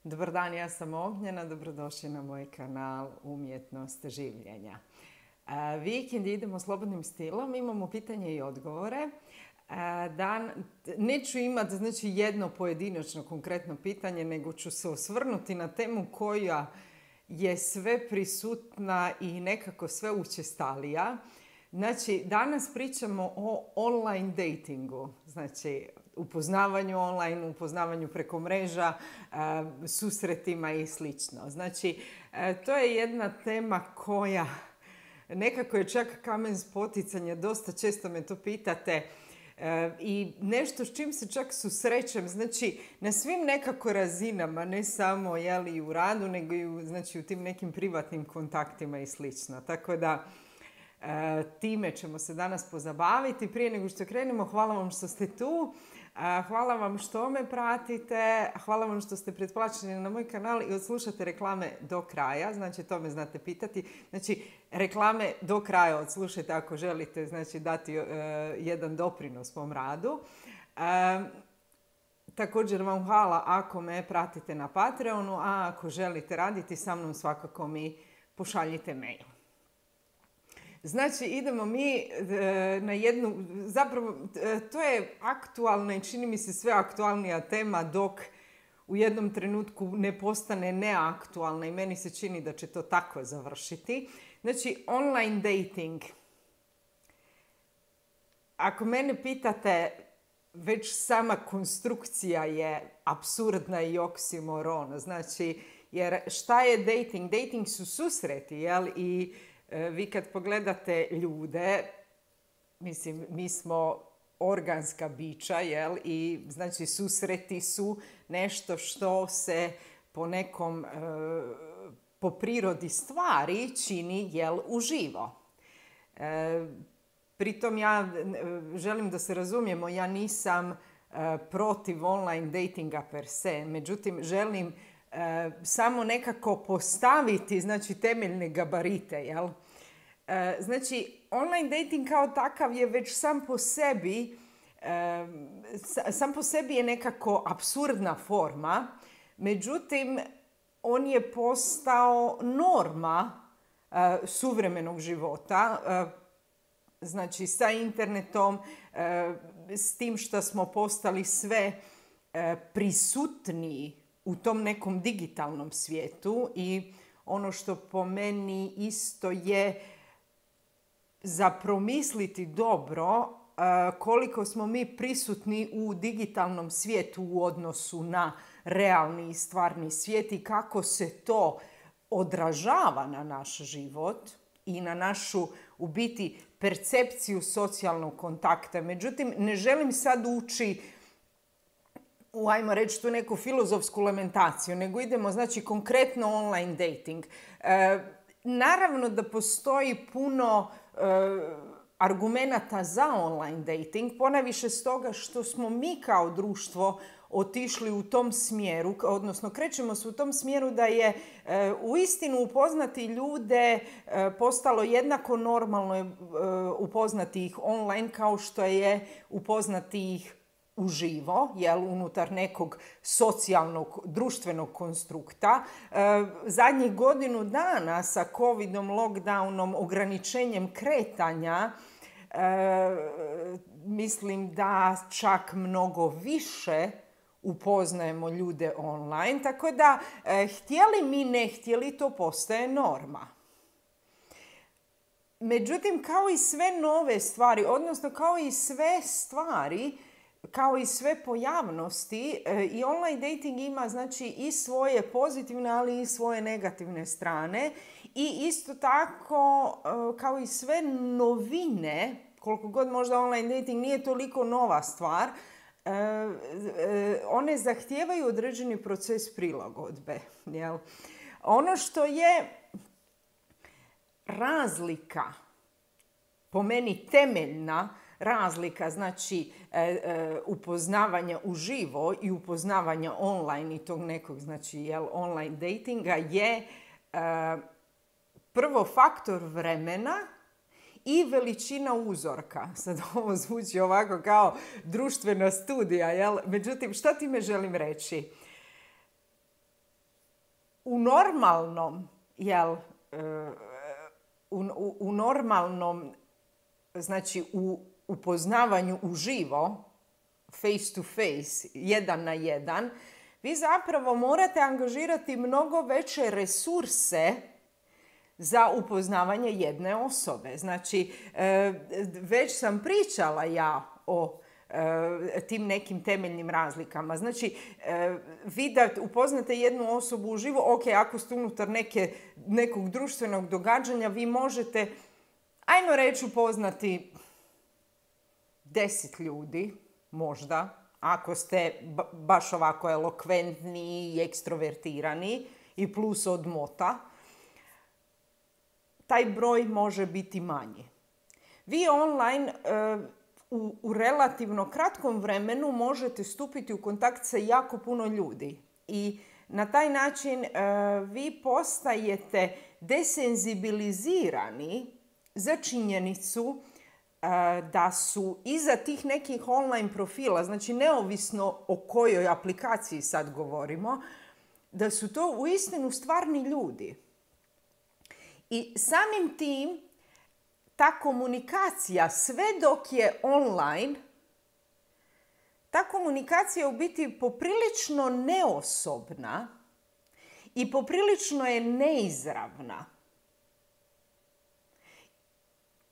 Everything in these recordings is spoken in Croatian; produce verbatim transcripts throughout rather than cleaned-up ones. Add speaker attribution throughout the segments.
Speaker 1: Dobar dan, ja sam Ognjena, dobrodošli na moj kanal Umjetnost življenja. Vikend idemo slobodnim stilom, imamo pitanje i odgovore. Dan, neću imati znači, jedno pojedinačno konkretno pitanje, nego ću se osvrnuti na temu koja je sve prisutna i nekako sve učestalija. Znači, danas pričamo o online datingu, znači upoznavanju online, upoznavanju preko mreža, susretima i slično. Znači, to je jedna tema koja nekako je čak kamen spoticanja, dosta često me to pitate i nešto s čim se čak susrećem, znači na svim nekako razinama, ne samo jeli, u radu, nego i u, znači, u tim nekim privatnim kontaktima i slično. Tako da time ćemo se danas pozabaviti. Prije nego što krenemo, hvala vam što ste tu. Hvala vam što me pratite, hvala vam što ste pretplaćeni na moj kanal i odslušate reklame do kraja, znači to me znate pitati. Znači, reklame do kraja odslušajte ako želite znači, dati uh, jedan doprinos svom radu. Uh, također vam hvala ako me pratite na Patreonu, a ako želite raditi sa mnom svakako mi pošaljite mail. Znači, idemo mi e, na jednu, zapravo e, to je aktualna i čini mi se sve aktualnija tema dok u jednom trenutku ne postane neaktualna i meni se čini da će to tako završiti. Znači, online dating. Ako mene pitate, već sama konstrukcija je apsurdna i oksimoron. Znači, jer šta je dating? Dating su susreti, jel? I vi kad pogledate ljude, mislim, mi smo organska bića, jel? I znači susreti su nešto što se po nekom, e, po prirodi stvari čini, jel, uživo. E, pritom ja želim da se razumijemo, ja nisam e, protiv online datinga per se, međutim želim E, samo nekako postaviti znači, temeljne gabarite. Jel? E, znači, online dating kao takav je već sam po sebi, e, sam po sebi je nekako apsurdna forma, međutim, on je postao norma e, suvremenog života, e, znači sa internetom, e, s tim što smo postali sve e, prisutniji u tom nekom digitalnom svijetu i ono što po meni isto je za promisliti dobro koliko smo mi prisutni u digitalnom svijetu u odnosu na realni i stvarni svijet i kako se to odražava na naš život i na našu u biti percepciju socijalnog kontakta. Međutim, ne želim sad ući u, ajmo reći, tu neku filozofsku lamentaciju, nego idemo, znači, konkretno online dating. E, naravno da postoji puno e, argumenata za online dating, ponajviše stoga što smo mi kao društvo otišli u tom smjeru, odnosno krećemo se u tom smjeru da je e, uistinu upoznati ljude e, postalo jednako normalno e, upoznati ih online kao što je upoznati ih uživo, jel, unutar nekog socijalnog, društvenog konstrukta. E, zadnjih godinu dana sa covidom, lockdownom, ograničenjem kretanja, e, mislim da čak mnogo više upoznajemo ljude online, tako da e, htjeli mi ne htjeli, to postaje norma. Međutim, kao i sve nove stvari, odnosno kao i sve stvari, kao i sve pojavnosti, i online dating ima znači i svoje pozitivne, ali i svoje negativne strane. I isto tako, kao i sve novine, koliko god možda online dating nije toliko nova stvar, one zahtijevaju određeni proces prilagodbe. Jel? Ono što je razlika, po meni temeljna, razlika, znači e, e, upoznavanja uživo i upoznavanja online i tog nekog, znači, jel, online datinga je e, prvo faktor vremena i veličina uzorka. Sad ovo zvuči ovako kao društvena studija, jel? Međutim, šta time želim reći? u normalnom, jel, u, u, u normalnom, znači u upoznavanju uživo, face to face, jedan na jedan, vi zapravo morate angažirati mnogo veće resurse za upoznavanje jedne osobe. Znači, već sam pričala ja o tim nekim temeljnim razlikama. Znači, vi da upoznate jednu osobu uživo, ok, ako ste unutar neke, nekog društvenog događanja, vi možete, ajmo reći, upoznati deset ljudi, možda, ako ste baš ovako elokventni i ekstrovertirani i plus odmota, taj broj može biti manji. Vi online u, u relativno kratkom vremenu možete stupiti u kontakt sa jako puno ljudi i na taj način vi postajete desenzibilizirani za činjenicu da su iza tih nekih online profila, znači neovisno o kojoj aplikaciji sad govorimo, da su to uistinu stvarni ljudi. I samim tim ta komunikacija, sve dok je online, ta komunikacija je u biti poprilično neosobna i poprilično je neizravna.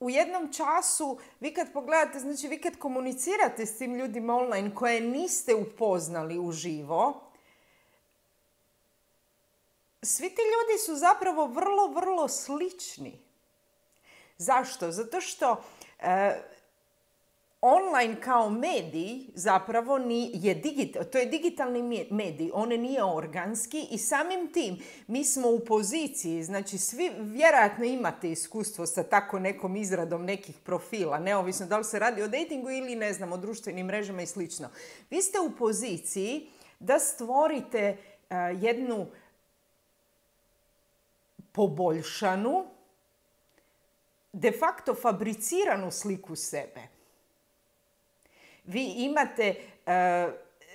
Speaker 1: U jednom času, vi kad pogledate, znači vi kad komunicirate s tim ljudima online koje niste upoznali uživo, svi ti ljudi su zapravo vrlo, vrlo slični. Zašto? Zato što e, online kao medij zapravo ni, je digital, to je digitalni medij, on nije organski i samim tim mi smo u poziciji, znači svi vjerojatno imate iskustvo sa tako nekom izradom nekih profila, neovisno da li se radi o datingu ili ne znam, o društvenim mrežama i slično. Vi ste u poziciji da stvorite uh, jednu poboljšanu, de facto fabriciranu sliku sebe. Vi imate e,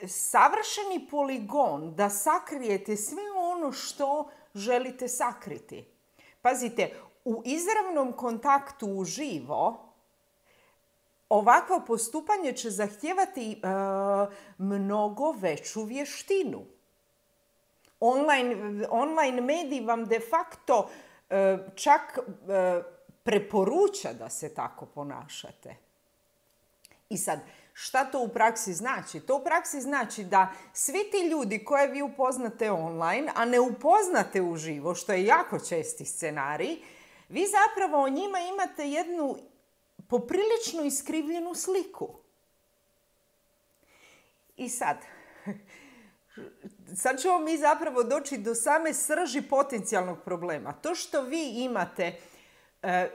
Speaker 1: savršeni poligon da sakrijete sve ono što želite sakriti. Pazite, u izravnom kontaktu uživo ovakvo postupanje će zahtijevati e, mnogo veću vještinu. Online, online medij vam de facto e, čak e, preporuča da se tako ponašate. I sad, šta to u praksi znači? To u praksi znači da svi ti ljudi koje vi upoznate online, a ne upoznate uživo, što je jako česti scenarij, vi zapravo o njima imate jednu poprilično iskrivljenu sliku. I sad, sad ćemo mi zapravo doći do same srži potencijalnog problema. To što vi imate, eh,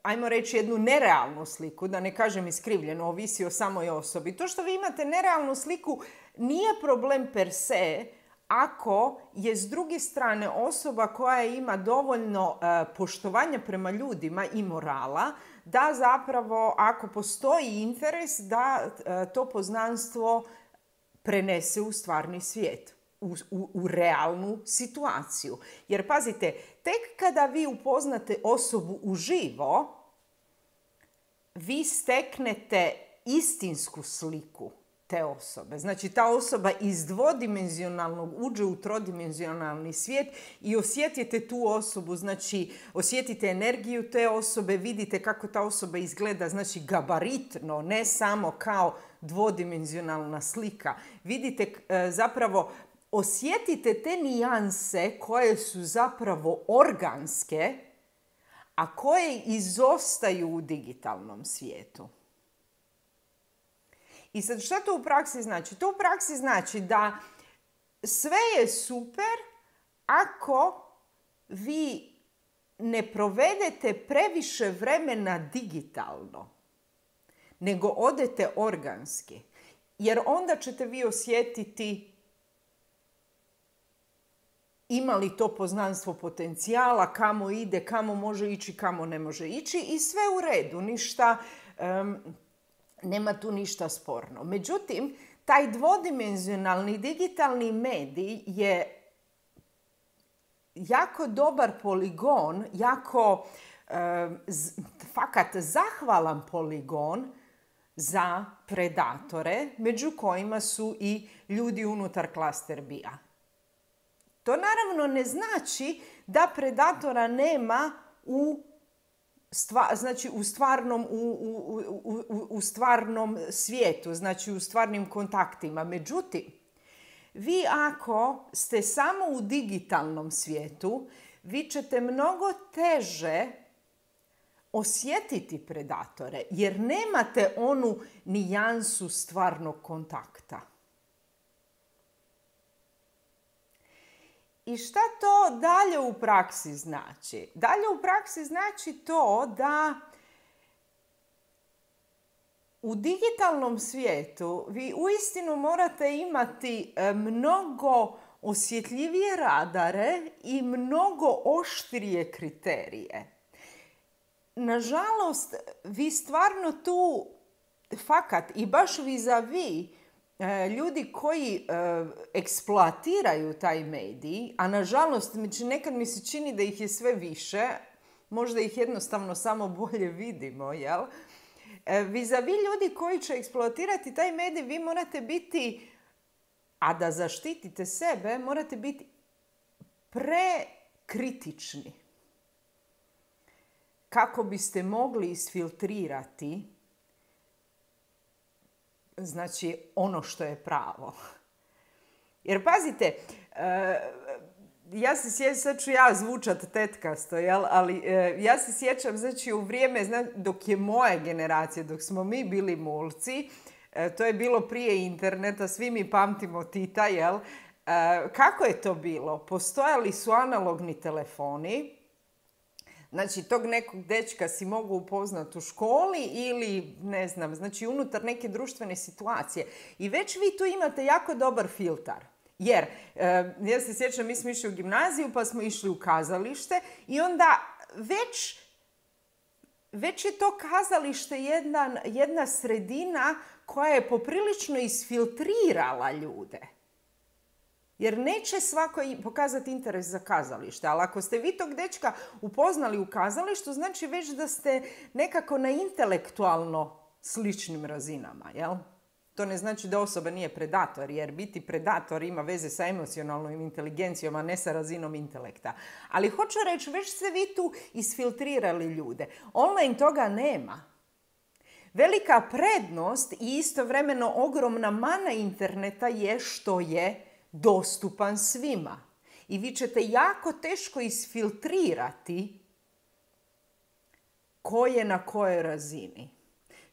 Speaker 1: ajmo reći, jednu nerealnu sliku, da ne kažem iskrivljenu, ovisi o samoj osobi. To što vi imate nerealnu sliku nije problem per se, ako je s druge strane osoba koja ima dovoljno eh, poštovanja prema ljudima i morala, da zapravo, ako postoji interes, da eh, to poznanstvo prenese u stvarni svijet, u, u, u realnu situaciju. Jer pazite, tek kada vi upoznate osobu uživo, vi steknete istinsku sliku te osobe. Znači, ta osoba iz dvodimenzionalnog uđe u trodimenzionalni svijet i osjetite tu osobu, znači osjetite energiju te osobe, vidite kako ta osoba izgleda, znači gabaritno, ne samo kao dvodimenzionalna slika. Vidite e, zapravo, osjetite te nijanse koje su zapravo organske, a koje izostaju u digitalnom svijetu. I sad šta to u praksi znači? To u praksi znači da sve je super ako vi ne provedete previše vremena digitalno, nego odete organski. Jer onda ćete vi osjetiti ima li to poznanstvo potencijala, kamo ide, kamo može ići, kamo ne može ići i sve u redu, ništa, um, nema tu ništa sporno. Međutim, taj dvodimenzionalni digitalni medij je jako dobar poligon, jako e, z, fakat zahvalan poligon za predatore, među kojima su i ljudi unutar Cluster B-a. To naravno ne znači da predatora nema u, stva, znači u, stvarnom, u, u, u, u, u stvarnom svijetu, znači u stvarnim kontaktima. Međutim, vi ako ste samo u digitalnom svijetu, vi ćete mnogo teže osjetiti predatore, jer nemate onu nijansu stvarnog kontakta. I šta to dalje u praksi znači? Dalje u praksi znači to da u digitalnom svijetu vi uistinu morate imati mnogo osjetljivije radare i mnogo oštrije kriterije. Nažalost, vi stvarno tu fakat i baš vis-a-vis ljudi koji eksploatiraju taj medij, a nažalost nekad mi se čini da ih je sve više, možda ih jednostavno samo bolje vidimo, jel? Vis-a-vis ljudi koji će eksploatirati taj medij, vi morate biti, a da zaštitite sebe, morate biti prekritični kako biste mogli isfiltrirati, znači, ono što je pravo. Jer pazite, ja se sjećam, sad ću ja zvučat tetkasto, jel? Ali ja se sjećam, znači, u vrijeme, znači, dok je moja generacija, dok smo mi bili mulci, to je bilo prije interneta, svi mi pamtimo Tita, jel? Kako je to bilo? Postojali su analogni telefoni. Znači, tog nekog dečka si mogu upoznati u školi ili, ne znam, znači unutar neke društvene situacije. I već vi tu imate jako dobar filtar. Jer, e, ja se sjećam, mi smo išli u gimnaziju, pa smo išli u kazalište i onda već, već je to kazalište jedna, jedna sredina koja je poprilično isfiltrirala ljude. Jer neće svako pokazati interes za kazalište. Ali ako ste vi tog dečka upoznali u kazalištu, znači već da ste nekako na intelektualno sličnim razinama, jel? To ne znači da osoba nije predator, jer biti predator ima veze sa emocionalnom inteligencijom, a ne sa razinom intelekta. Ali hoću reći, već ste vi tu isfiltrirali ljude. Online toga nema. Velika prednost i istovremeno ogromna mana interneta je što je dostupan svima. I vi ćete jako teško isfiltrirati ko je na kojoj razini.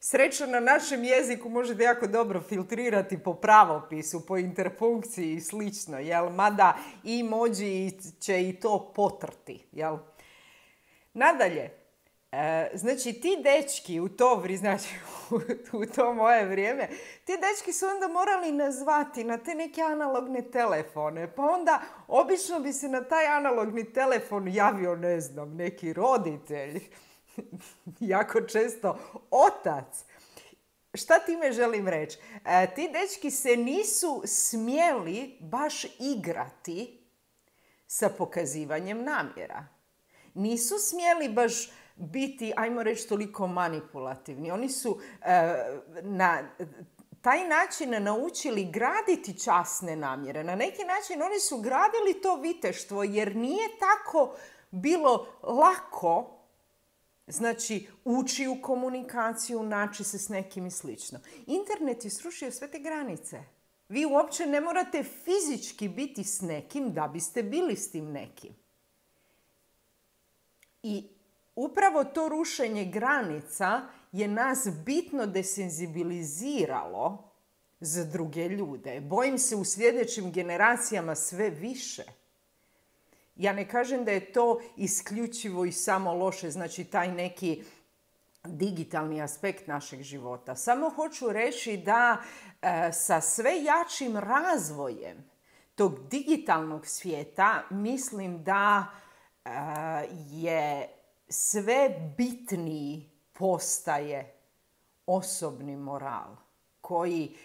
Speaker 1: Srećno na našem jeziku možete jako dobro filtrirati po pravopisu, po interpunkciji i slično, jel? Mada emoji će i to potrti, jel? Nadalje, e, znači ti dečki u to, znači, u, u to moje vrijeme, ti dečki su onda morali nazvati na te neke analogne telefone, pa onda obično bi se na taj analogni telefon javio, ne znam, neki roditelj, jako često otac. Šta time želim reći? E, ti dečki se nisu smjeli baš igrati sa pokazivanjem namjera. Nisu smjeli baš biti, ajmo reći, toliko manipulativni. Oni su e, na taj način naučili graditi časne namjere. Na neki način oni su gradili to viteštvo jer nije tako bilo lako, znači, ući u komunikaciju, naći se s nekim i slično. Internet je srušio sve te granice. Vi uopće ne morate fizički biti s nekim da biste bili s tim nekim. I upravo to rušenje granica je nas bitno desenzibiliziralo za druge ljude. Bojim se u sljedećim generacijama sve više. Ja ne kažem da je to isključivo i samo loše, znači taj neki digitalni aspekt našeg života. Samo hoću reći da e, sa sve jačim razvojem tog digitalnog svijeta mislim da e, je sve bitniji postaje osobni moral koji,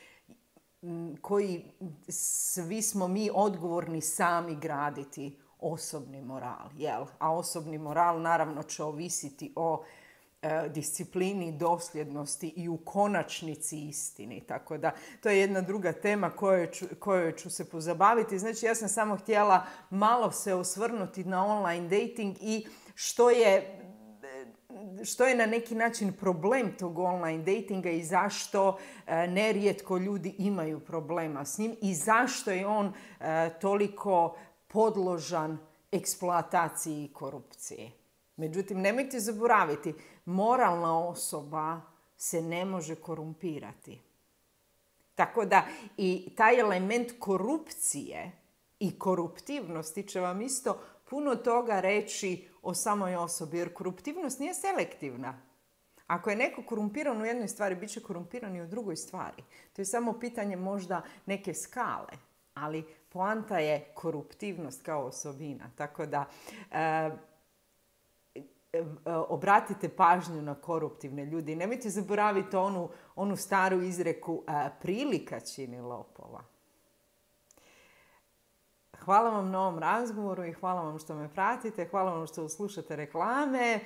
Speaker 1: koji svi smo mi odgovorni sami graditi osobni moral, jel? A osobni moral naravno će ovisiti o e, disciplini, dosljednosti i u konačnici istini. Tako da to je jedna druga tema kojoj ću, kojoj ću se pozabaviti. Znači ja sam samo htjela malo se osvrnuti na online dating i što je što je na neki način problem tog online datinga i zašto e, nerijetko ljudi imaju problema s njim i zašto je on e, toliko podložan eksploataciji i korupciji. Međutim, nemojte zaboraviti, moralna osoba se ne može korumpirati. Tako da i taj element korupcije i koruptivnosti će vam isto puno toga reći o samoj osobi, jer koruptivnost nije selektivna. Ako je neko korumpiran u jednoj stvari, bit će korumpiran i u drugoj stvari. To je samo pitanje možda neke skale, ali poanta je koruptivnost kao osobina. Tako da e, e, obratite pažnju na koruptivne ljudi. Nemojte zaboraviti onu, onu staru izreku e, prilika čini lopova. Hvala vam na ovom razgovoru i hvala vam što me pratite, hvala vam što slušate reklame,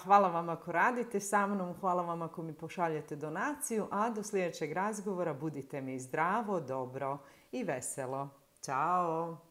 Speaker 1: hvala vam ako radite sa mnom, hvala vam ako mi pošaljete donaciju, a do sljedećeg razgovora budite mi zdravo, dobro i veselo. Ćao!